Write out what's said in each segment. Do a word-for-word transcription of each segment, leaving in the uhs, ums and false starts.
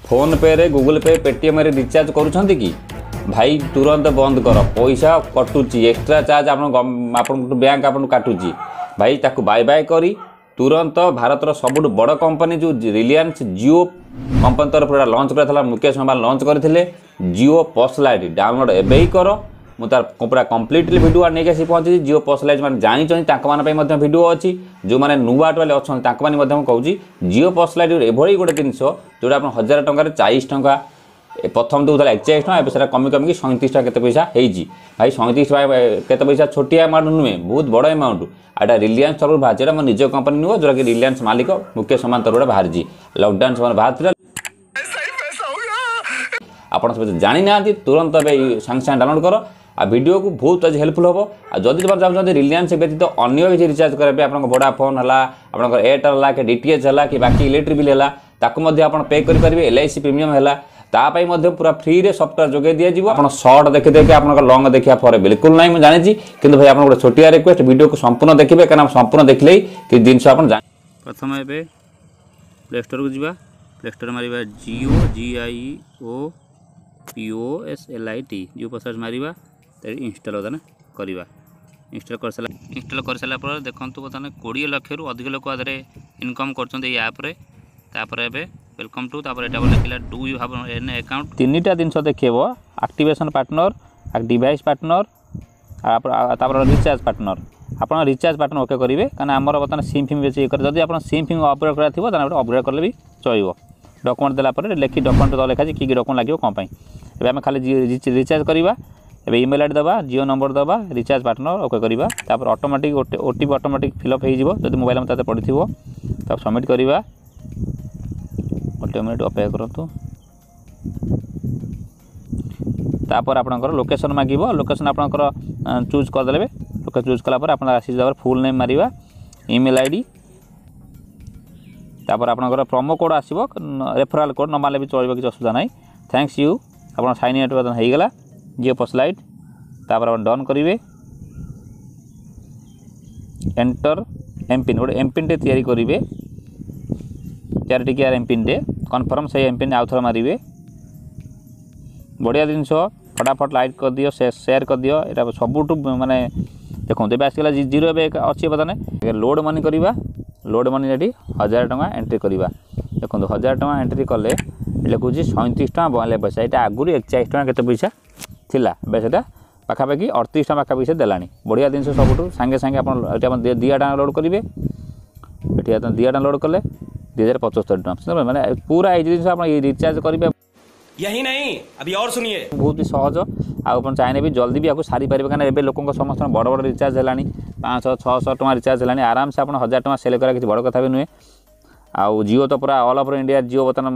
ଫୋନ୍ପେରେ, Google pay, ପେଟିଏମ୍ରେ recharge କରୁଛନ୍ତି କି ଭାଇ? ତୁରନ୍ତ ବନ୍ଦ କର। ପଇସା କଟୁଛି, ଏକ୍ସଟ୍ରା ଚାର୍ଜ ଆପଣ ଆପଣଙ୍କୁ ବ୍ୟାଙ୍କ ଆପଣଙ୍କୁ କାଟୁଛି। ଭାଇ, ତାକୁ ବାଏ ବାଏ କରି ତୁରନ୍ତ ଭାରତର ସବୁଠୁ ବଡ଼ କମ୍ପାନୀ ଯେଉଁ ରିଲାଏନ୍ସ ଜିଓ କମ୍ପାନୀ ତରଫରୁ ଏଇଟା ଲଞ୍ଚ କରିଥିଲା, ମୁକେଶ ଅମ୍ବାନୀ ଲଞ୍ଚ କରିଥିଲେ ଜିଓ ପସ୍ ଲାଇଟ୍। ଡାଉନଲୋଡ଼ ଏବେ ହିଁ କର। ମୁଁ ତାର ପୁରା କମ୍ପ୍ଲିଟଲି ଭିଡ଼ିଓ ନେଇକି ଆସି ପହଞ୍ଚିଛି। ଜିଓ ପସ୍ ଲାଇଟ୍ ମାନେ ଜାଣିଛନ୍ତି, ତାଙ୍କମାନଙ୍କ ପାଇଁ ମଧ୍ୟ ଭିଡ଼ିଓ ଅଛି। ଯେଉଁମାନେ ନୂଆ ଟୋଟାଲି ଅଛନ୍ତି, ତାଙ୍କମାନେ ମଧ୍ୟ ମୁଁ କହୁଛି, ଜିଓ ପସ୍ ଲାଇଟ୍ ଏଭଳି ଗୋଟେ ଜିନିଷ ଯେଉଁଟା ଆପଣ ହଜାର ଟଙ୍କାରେ ଚାଳିଶ ଟଙ୍କା ଏ ପ୍ରଥମ ଦେଉଥିଲା ଏକଚାଳିଶ ଟଙ୍କା, ଏବେ ସେଟା କମି କମିକି ସଇଁତିରିଶ ଟଙ୍କା କେତେ ପଇସା ହେଇଛି। ଭାଇ, ସଇଁତିରିଶ ଟଙ୍କା କେତେ ପଇସା ଛୋଟିଆ ଆମାଉଣ୍ଟ ନୁହେଁ, ବହୁତ ବଡ଼ ଆମାଉଣ୍ଟ। ଆଉ ଏଇଟା ରିଲାଏନ୍ସ ତରଫରୁ ବାହାରିଛି। ଏଇଟା ମୋ ନିଜ କମ୍ପାନୀ ନୁହଁ, ଯେଉଁଟାକି ରିଲାଏନ୍ସ ମାଲିକ ମୁକେଶ ଅମ୍ବାନୀ ତରଫରୁ ବାହାରିଛି। ଲକଡାଉନ୍ ସମୟରେ ବାହାରିଥିଲା। ଆପଣ ସମସ୍ତେ ଜାଣିନାହାନ୍ତି, ତୁରନ୍ତ ଏବେ ସାଙ୍ଗେ ସାଙ୍ଗେ ଡାଉନଲୋଡ଼ କର ଆଉ ଭିଡ଼ିଓକୁ ବହୁତ ଆଜି ହେଲ୍ପଫୁଲ୍ ହେବ। ଆଉ ଯଦି ତୁମେ ଚାହୁଁଛନ୍ତି ରିଲାଏନ୍ସ ବ୍ୟତୀତ ଅନ୍ୟ କିଛି ରିଚାର୍ଜ କରିବା ପାଇଁ, ଆପଣଙ୍କ ଭୋଡାଫୋନ୍ ହେଲା, ଆପଣଙ୍କର ଏୟାରଟେଲ୍ ହେଲା କି ଡି ଟି ଏଚ୍ ହେଲା କି ବାକି ଇଲେକ୍ଟ୍ରିକ୍ ବିଲ୍ ହେଲା, ତାକୁ ମଧ୍ୟ ଆପଣ ପେ କରିପାରିବେ। ଏଲ୍ I C premium ହେଲା, ତା ପାଇଁ ମଧ୍ୟ ପୁରା ଫ୍ରିରେ ସଫ୍ଟୱେର୍ ଯୋଗାଇ ଦିଆଯିବ। ଆପଣ ସର୍ଟ ଦେଖି ଦେଖି ଆପଣଙ୍କ ଲଙ୍ଗ ଦେଖିବା ପରେ ବିଲକୁଲ ନାହିଁ, ମୁଁ ଜାଣିଛି। କିନ୍ତୁ ଭାଇ, ଆପଣ ଗୋଟେ ଛୋଟିଆ ରିକ୍ୱେଷ୍ଟ, ଭିଡ଼ିଓକୁ ସମ୍ପୂର୍ଣ୍ଣ ଦେଖିବେ, କାରଣ ସମ୍ପୂର୍ଣ୍ଣ ଦେଖିଲେ ହିଁ କିଛି ଜିନିଷ ଆପଣ ଜାଣି ପ୍ରଥମେ ଏବେ ପ୍ଲେ ଷ୍ଟୋରକୁ ଯିବା। ପ୍ଲେ ଷ୍ଟୋର ମାରିବା Jio, G I O P O S L I T, Jio pus ମାରିବା। ଇନଷ୍ଟଲ୍ ବର୍ତ୍ତମାନ କରିବା। ଇନଷ୍ଟଲ୍ କରିସାରିଲା ଇନଷ୍ଟଲ୍ କରିସାରିଲା ପରେ ଦେଖନ୍ତୁ, ବର୍ତ୍ତମାନ କୋଡ଼ିଏ ଲକ୍ଷରୁ ଅଧିକ ଲୋକ ଆଦେହରେ ଇନକମ୍ କରୁଛନ୍ତି ଏଇ ଆପ୍ରେ। ତାପରେ ଏବେ welcome to, ତାପରେ ଏଇଟା ଲେଖିଲା "Do you have an account?" ତିନିଟା ଜିନିଷ ଦେଖେଇବ, ଆକ୍ଟିଭେସନ୍ ପାର୍ଟନର, ଡିଭାଇସ୍ ପାର୍ଟନର, ତାପରେ ରିଚାର୍ଜ ପାର୍ଟନର। ଆପଣ ରିଚାର୍ଜ ପାର୍ଟନର ଓକେ କରିବେ, କାରଣ ଆମର ବର୍ତ୍ତମାନ ସିମ୍ ଫିମ୍ ବେଶୀ ଇଏ କରେ। ଯଦି ଆପଣ ସିମ୍ ଫିମ୍ ଅପଗ୍ରେଡ଼ କରିବାର ଥିବ, ତାହେଲେ ଗୋଟେ ଅପଗ୍ରେଡ଼ କଲେ ବି ଚଳିବ। ଡକୁମେଣ୍ଟ ଦେଲା ପରେ ଲେଖି ଡକୁମେଣ୍ଟ ଲେଖାଛି କି କି ଡକୁମେଣ୍ଟ ଲାଗିବ, କ'ଣ ପାଇଁ। ଏବେ ଆମେ ଖାଲି ରିଚାର୍ଜ କରିବା। ଏବେ ଇମେଲ୍ I D ଦେବା, ଜିଓ ନମ୍ବର ଦେବା, ରିଚାର୍ଜ ପାର୍ଟନର ଓକେ କରିବା। ତାପରେ ଅଟୋମେଟିକ୍ ଗୋଟେ ଓ ଟି ପି ଅଟୋମେଟିକ୍ ଫିଲ୍ଅପ୍ ହେଇଯିବ, ଯଦି ମୋବାଇଲ୍ ନମ୍ବର ତାতে ପଡ଼ିଥିବ। ତାକୁ ସବମିଟ୍ କରିବା। ଗୋଟେ ମିନିଟ୍ ଅପେକ୍ଷା କରନ୍ତୁ। ତାପରେ ଆପଣଙ୍କର ଲୋକେସନ୍ ମାଗିବ। ଲୋକେସନ୍ ଆପଣଙ୍କର ଚୁଜ୍ କରିଦେବେ। ଲୋକେସନ୍ ଚୁଜ୍ କଲା ପରେ ଆପଣ ଆସିଯିବ। ଫୁଲ୍ ନେମ୍ ମାରିବା, ଇମେଲ୍ I D, ତାପରେ ଆପଣଙ୍କର ପ୍ରୋମୋ କୋଡ଼୍ ଆସିବ, ରେଫରାଲ୍ କୋଡ଼୍। ନ ମାରିଲେ ବି ଚଳିବ, କିଛି ଅସୁବିଧା ନାହିଁ। Thanks you. ଆପଣ ସାଇନ୍ ଇନ୍ ହେଇଗଲା ଜିଓ ପସ୍ ଲାଇଟ୍। ତାପରେ ଆପଣ ଡନ୍ କରିବେ। ଏଣ୍ଟର ଏମ୍ପିନ୍, ଗୋଟେ ଏମ୍ପିନ୍ଟେ ତିଆରି କରିବେ, ଚାରି ଟିକିଆ ଏମ୍ପିନ୍ଟେ। କନଫର୍ମ ସେଇ ଏମ୍ପିନ୍ ଆଉ ଥରେ ମାରିବେ। ବଢ଼ିଆ ଜିନିଷ। ଫଟାଫଟ ଲାଇକ୍ କରିଦିଅ, ସେୟାର କରିଦିଅ। ଏଇଟା ସବୁଠୁ ମାନେ ଦେଖନ୍ତୁ, ଏବେ ଆସିଗଲା ଜିରୋ, ଏବେ ଅଛି। ବର୍ତ୍ତମାନ ଲୋଡ଼ ମନି କରିବା। ଲୋଡ଼ ମନି ଏଠି ହଜାର ଟଙ୍କା ଏଣ୍ଟ୍ରି କରିବା। ଦେଖନ୍ତୁ, ହଜାର ଟଙ୍କା ଏଣ୍ଟ୍ରି କଲେ ଲେଖୁଛି ସଇଁତିରିଶ ଟଙ୍କା ବୟାନବେ ପଇସା। ଏଇଟା ଆଗରୁ ଏକଚାଳିଶ ଟଙ୍କା କେତେ ପଇସା ଥିଲା, ଏବେ ସେଇଟା ପାଖାପାଖି ଅଠତିରିଶ ଟଙ୍କା ପାଖାପାଖି ସେ ଦେଲାଣି। ବଢ଼ିଆ ଜିନିଷ। ସବୁଠୁ ସାଙ୍ଗେ ସାଙ୍ଗେ ଆପଣ ଏଠି ଆପଣ ଦୁଇ ଟଙ୍କା ଲୋଡ଼ କରିବେ। ଏଠି ଆପଣ ଦୁଇ ଟଙ୍କା ଲୋଡ଼ କଲେ ଦୁଇ ହଜାର ପଞ୍ଚସ୍ତରୀ ଟଙ୍କା। ମାନେ ପୁରା ଏଇ ଜିନିଷ ଆପଣ ରିଚାର୍ଜ କରିବେ। यही नहीं, अभी और सुनिए। ବହୁତ ବି ସହଜ। ଆଉ ଆପଣ ଚାହିଁଲେ ବି ଜଲ୍ଦି ବି ଆକୁ ସାରିପାରିବେ, କାରଣ ଏବେ ଲୋକଙ୍କ ସମସ୍ତଙ୍କ ବଡ଼ ବଡ଼ ରିଚାର୍ଜ ହେଲାଣି, ପାଞ୍ଚଶହ ଛଅଶହ ଟଙ୍କା ରିଚାର୍ଜ ହେଲାଣି। ଆରାମସେ ଆପଣ ହଜାର ଟଙ୍କା ସେଲ୍ କରିବା କିଛି ବଡ଼ କଥା ବି ନୁହେଁ। ଆଉ ଜିଓ ତ ପୁରା ଅଲ୍ ଓଭର ଇଣ୍ଡିଆ ଜିଓ ବର୍ତ୍ତମାନ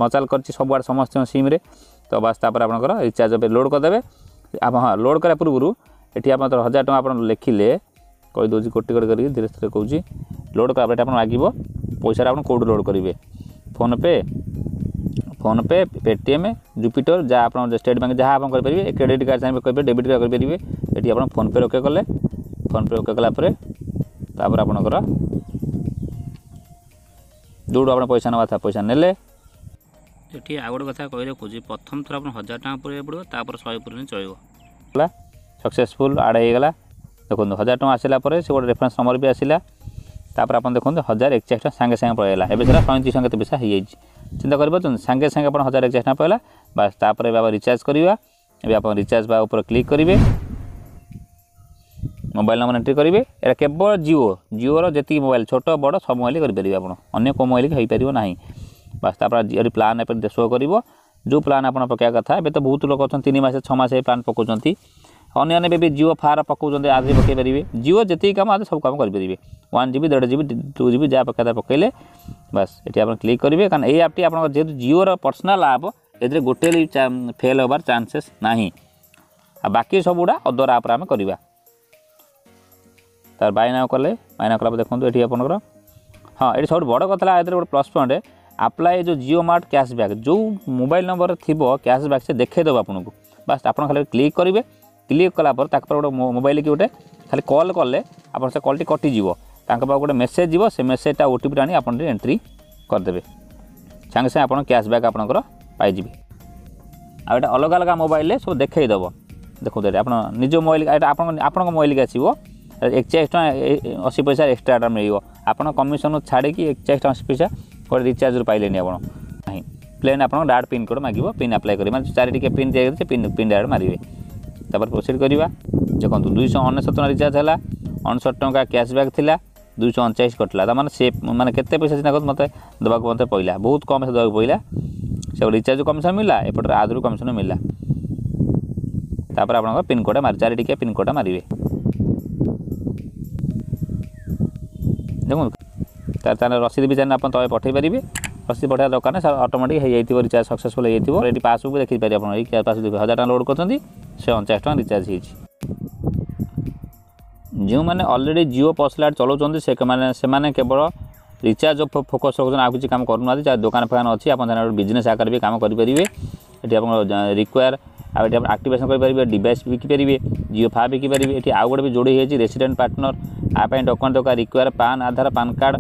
ମଚାଲ କରିଛି ସବୁଆଡ଼େ ସମସ୍ତଙ୍କ ସିମ୍ରେ। ତ ବାସ୍, ତାପରେ ଆପଣଙ୍କର ରିଚାର୍ଜ ଏବେ ଲୋଡ଼ କରିଦେବେ ଆପଣ। ହଁ, ଲୋଡ଼ କରିବା ପୂର୍ବରୁ ଏଠି ଆପଣ ହଜାର ଟଙ୍କା ଆପଣ ଲେଖିଲେ, କହିଦେଉଛି ଗୋଟେ ଗୋଟେ କରିକି, ଧୀରେ ଧୀରେ କହୁଛି। ଲୋଡ଼ କଲା ପରେ ଏଠି ଆପଣ ମାଗିବ ପଇସାଟା ଆପଣ କେଉଁଠୁ ଲୋଡ଼ କରିବେ, ଫୋନ୍ପେ, ଫୋନ୍ପେ, ପେଟିଏମ୍, ଜୁପିଟର, ଯାହା ଆପଣ ଷ୍ଟେଟ୍ ବ୍ୟାଙ୍କ, ଯାହା ଆପଣ କରିପାରିବେ। କ୍ରେଡ଼ିଟ୍ କାର୍ଡ଼ ଚାହିଁବେ କରିପାରିବେ, ଡେବିଟ୍ କାର୍ଡ଼ କରିପାରିବେ। ଏଠି ଆପଣ ଫୋନ୍ପେ ଓକେ କଲେ। ଫୋନ୍ପେ ଓକେ କଲା ପରେ ତାପରେ ଆପଣଙ୍କର ଯେଉଁଠୁ ଆପଣ ପଇସା ନେବା କଥା ପଇସା ନେଲେ। ଏଠି ଆଉ ଗୋଟେ କଥା କହି ରଖୁଛି, ପ୍ରଥମ ଥର ଆପଣ ହଜାର ଟଙ୍କା ପୁରେଇବାକୁ ପଡ଼ିବ, ତାପରେ ଶହେ ପୁରେଇଲେ ଚଳିବ। ହେଲା, ସକ୍ସେସଫୁଲ୍ ଆଡ଼୍ ହେଇଗଲା। ଦେଖନ୍ତୁ, ହଜାର ଟଙ୍କା ଆସିଲା ପରେ ସେ ଗୋଟେ ରେଫରେନ୍ସ ନମ୍ବର ବି ଆସିଲା। ତାପରେ ଆପଣ ଦେଖନ୍ତୁ, ହଜାର ଏକଚାଳିଶ ଟଙ୍କା ସାଙ୍ଗେ ସାଙ୍ଗେ ପଳେଇଲା। ଏବେ ସେଟା ସଇଁତିରିଶ ଟଙ୍କା କେତେ ପଇସା ହେଇଯାଇଛି। ଚିନ୍ତା କରିପାରୁଛନ୍ତି? ସାଙ୍ଗେ ସାଙ୍ଗେ ଆପଣ ହଜାର ଏକଚାଳିଶ ଟଙ୍କା ପଳେଇଲା। ବାସ୍, ତାପରେ ଏବେ ରିଚାର୍ଜ କରିବା। ଏବେ ଆପଣ ରିଚାର୍ଜ ବା ଉପରେ କ୍ଲିକ୍ କରିବେ, ମୋବାଇଲ୍ ନମ୍ବର ଏଣ୍ଟ୍ରି କରିବେ। ଏଇଟା କେବଳ ଜିଓ, ଜିଓର ଯେତିକି ମୋବାଇଲ୍, ଛୋଟ ବଡ଼ ସବୁ ମୋବାଇଲ୍ କରିପାରିବେ ଆପଣ, ଅନ୍ୟ କେଉଁ ମୋବାଇଲ୍ ହେଇପାରିବ ନାହିଁ। ବାସ୍, ତାପରେ ଏଠି ପ୍ଲାନ୍ ଏବେ ଶୋ କରିବ, ଯେଉଁ ପ୍ଲାନ୍ ଆପଣ ପକାଇବା କଥା। ଏବେ ତ ବହୁତ ଲୋକ ଅଛନ୍ତି, ତିନି ମାସ ଛଅ ମାସ ପ୍ଲାନ୍ ପକାଉଛନ୍ତି। ଅନ୍ୟ ଏବେ ବି ଜିଓ ଫାର ପକାଉଛନ୍ତି, ଆଜି ପକାଇ ପାରିବେ। ଜିଓ ଯେତିକି କାମ ଆଜି ସବୁ କାମ କରିପାରିବେ। ୱାନ୍ ଜି ବି, ଦେଢ଼ ଜି ବି, ଟୁ ଜି ବି, ଯାହା ପକାଇବା ପକାଇଲେ। ବାସ୍, ଏଠି ଆପଣ କ୍ଲିକ୍ କରିବେ, କାରଣ ଏଇ ଆପ୍ଟି ଆପଣଙ୍କ ଯେହେତୁ ଜିଓର ପର୍ସନାଲ୍ ଆପ୍, ଏଥିରେ ଗୋଟେ ଫେଲ୍ ହେବାର ଚାନ୍ସେସ୍ ନାହିଁ। ଆଉ ବାକି ସବୁଗୁଡ଼ା ଅଦର ଆପ୍ରେ ଆମେ କରିବା। ତାର ବାଇ ନାଉ କଲେ, ବାଇ ନାଉ କଲା ପରେ ଦେଖନ୍ତୁ ଏଠି ଆପଣଙ୍କର, ହଁ, ଏଠି ସବୁଠୁ ବଡ଼ କଥା ହେଲା ଏଥିରେ ଗୋଟେ ପ୍ଲସ୍ ପଏଣ୍ଟ, ଆପ୍ଲାଏ ଯେଉଁ ଜିଓ ମାର୍ଟ କ୍ୟାସବ୍ୟାକ୍, ଯେଉଁ ମୋବାଇଲ୍ ନମ୍ବର ଥିବ କ୍ୟାସବ୍ୟାକ୍ ସେ ଦେଖେଇଦେବ ଆପଣଙ୍କୁ। ବାସ୍, ଆପଣ ଖାଲି କ୍ଲିକ୍ କରିବେ। କ୍ଲିକ୍ କଲା ପରେ ତାଙ୍କ ପରେ ଗୋଟେ ମୋବାଇଲ କି ଗୋଟେ ଖାଲି କଲ୍ କଲେ ଆପଣ ସେ କଲ୍ଟି କଟିଯିବ, ତାଙ୍କ ପାଖକୁ ଗୋଟେ ମେସେଜ୍ ଯିବ। ସେ ମେସେଜଟା ଓ ଟି ପିଟା ଆଣି ଆପଣ ଏଣ୍ଟ୍ରି କରିଦେବେ। ସାଙ୍ଗେ ସାଙ୍ଗେ ଆପଣ କ୍ୟାସବ୍ୟାକ୍ ଆପଣଙ୍କର ପାଇଯିବେ। ଆଉ ଏଇଟା ଅଲଗା ଅଲଗା ମୋବାଇଲରେ ସବୁ ଦେଖେଇ ଦେବ। ଦେଖନ୍ତୁ, ଏଇଟା ଆପଣ ନିଜ ମୋବାଇଲ, ଏଇଟା ଆପଣଙ୍କ ଆପଣଙ୍କ ମୋବାଇଲକି ଆସିବ। ଏକଚାଳିଶ ଟଙ୍କା ଅଶୀ ପଇସା ଏକ୍ସଟ୍ରାଟା ମିଳିବ। ଆପଣ କମିଶନ ଛାଡ଼ିକି ଏକଚାଳିଶ ଟଙ୍କା ଅଶୀ ପଇସା ଗୋଟେ ରିଚାର୍ଜରୁ ପାଇଲେନି ଆପଣ ନାହିଁ। ପ୍ଲେନ୍ ଆପଣଙ୍କ ଡାଇରେକ୍ଟ ପିନ୍ କୋଡ଼ ମାଗିବ, ପିନ୍ ଆପ୍ଲାଏ କରିବେ, ମାନେ ଚାରି ଟିକେ ପିନ୍ ଦିଆଯାଇଛି, ପିନ୍ ପିନ୍ ଡାଇରେକ୍ଟ ମାରିବେ। ତାପରେ ପ୍ରୋସିଡ଼ କରିବା। ଦେଖନ୍ତୁ, ଦୁଇଶହ ଅନେଶତ ଟଙ୍କା ରିଚାର୍ଜ ହେଲା, ଅଣଷଠି ଟଙ୍କା କ୍ୟାସବ୍ୟାକ୍ ଥିଲା, ଦୁଇଶହ ଅଣଚାଳିଶ କଟିଲା। ତାମାନେ ସେ ମାନେ କେତେ ପଇସା ଚିନ୍ତା କରନ୍ତୁ ମୋତେ ଦେବାକୁ ମୋତେ ପଇଲା, ବହୁତ କମ୍ ପଇସା ଦେବାକୁ ପଇଲା। ସେ ରିଚାର୍ଜ କମିଶନ ମିଳିଲା, ଏପଟରେ ଆଦରୁ କମିଶନ ମିଳିଲା। ତାପରେ ଆପଣଙ୍କ ପିନ୍କୋଡ଼୍ ମାରି ଚାରି ଟିକିଆ ପିନ୍କୋଡ଼୍ଟା ମାରିବେ। ଦେଖନ୍ତୁ, ତାହେଲେ ରସିଦ ବି ଚାହିଁଲେ ଆପଣ ତଳେ ପଠାଇ ପାରିବେ। ରସିଦ ପଠାଇବା ଦରକାର ନାହିଁ, ଅଟୋମେଟିକ୍ ହେଇଯାଇଥିବ, ରିଚାର୍ଜ ସକ୍ସେସଫୁଲ୍ ହେଇଯାଇଥିବ। ଏଠି ପାସବୁକ୍ ଦେଖିପାରିବେ ଆପଣ। ଏଇ ପାସବୁକ୍ ହଜାର ଟଙ୍କା ଲୋଡ଼ କରିଛନ୍ତି, ସେ ଅଣଚାଶ ଟଙ୍କା ରିଚାର୍ଜ ହେଇଛି। ଯେଉଁମାନେ ଅଲରେଡ଼ି ଜିଓ ପସ୍ ଲାଇଟ୍ ଚଲାଉଛନ୍ତି, ସେମାନେ ସେମାନେ କେବଳ ରିଚାର୍ଜ ଫୋକସ୍ ରଖୁଛନ୍ତି, ଆଉ କିଛି କାମ କରୁନାହାନ୍ତି। ଯାହା ଦୋକାନ ଫୋକାନ ଅଛି, ଆପଣ ଚାହିଁଲେ ବିଜନେସ୍ ଆକାରରେ ବି କାମ କରିପାରିବେ। ଏଠି ଆପଣ ରିକ୍ୱାର, ଆଉ ଏଠି ଆପଣ ଆକ୍ଟିଭେସନ୍ କରିପାରିବେ, ଡିଭାଇସ୍ ବିକିପାରିବେ, ଜିଓ ଫା ବିକିପାରିବେ। ଏଠି ଆଉ ଗୋଟେ ବି ଯୋଡ଼ି ହେଇଯାଇଛି ରେସିଡେଣ୍ଟ ପାର୍ଟନର। ଆ ପାଇଁ ଡକୁମେଣ୍ଟ ଦରକାର, ରିକ୍ୱାର ପାନ୍, ଆଧାର, ପାନ୍ କାର୍ଡ଼,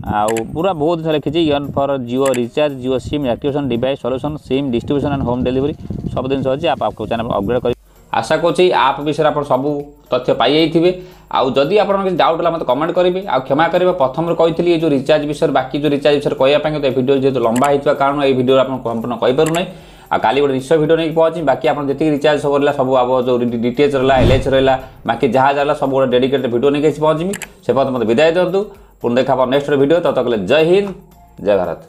ଆଉ ପୁରା ବହୁତ ଜିନିଷ ଲେଖିଛି। Earn for Jio recharge, Jio SIM activation, device solution, SIM distribution and home delivery, ସବୁ ଜିନିଷ ଅଛି। ଆପଣ ଚାହିଁଲେ ଅପଗ୍ରେଡ଼ କରି। ଆଶା କରୁଛି ଆପ୍ ବିଷୟରେ ଆପଣ ସବୁ ତଥ୍ୟ ପାଇଯାଇଥିବେ। ଆଉ ଯଦି ଆପଣଙ୍କ କିଛି ଡାଉଟ୍ ହେଲା, ମୋତେ କମେଣ୍ଟ କରିବେ। ଆଉ କ୍ଷମା କରିବେ, ପ୍ରଥମରୁ କହିଥିଲି ଏ ଯେଉଁ ରିଚାର୍ଜ ବିଷୟରେ, ବାକି ଯେଉଁ ରିଚାର୍ଜ ବିଷୟରେ କହିବା ପାଇଁ, କିନ୍ତୁ ଏ ଭିଡ଼ିଓ ଯେହେତୁ ଲମ୍ବା ହେଇଥିବା କାରଣ ଏଇ ଭିଡ଼ିଓ ଆପଣ ସମ୍ପୂର୍ଣ୍ଣ କହିପାରୁନାହିଁ। ଆଉ କାଲି ଗୋଟେ ନିଶ୍ଚୟ ଭିଡ଼ିଓ ନେଇକି ପହଞ୍ଚିବି। ବାକି ଆପଣ ଯେତିକି ରିଚାର୍ଜ ସବୁ ରହିଲା, ସବୁ ଆମ ଯେଉଁ ଡିଟିଏଚ୍ ରହିଲା, ଏଲ୍ ଏଚ୍ ରହିଲା, ବାକି ଯାହା ଯାହା ହେଲା, ସବୁ ଗୋଟେ ଡେଡିକେଟେଡ୍ ଭିଡ଼ିଓ ନେଇକି ଆସି ପହଞ୍ଚିବି। ସେ ପର୍ଯ୍ୟନ୍ତ ମୋତେ ବିଦାୟ ଦିଅନ୍ତୁ। ପୁଣି ଦେଖା ହେବ ନେକ୍ସଟ ଭିଡ଼ିଓ। ତତ କଲେ ଜୟ ହିନ୍ଦ, ଜୟ ଭାରତ।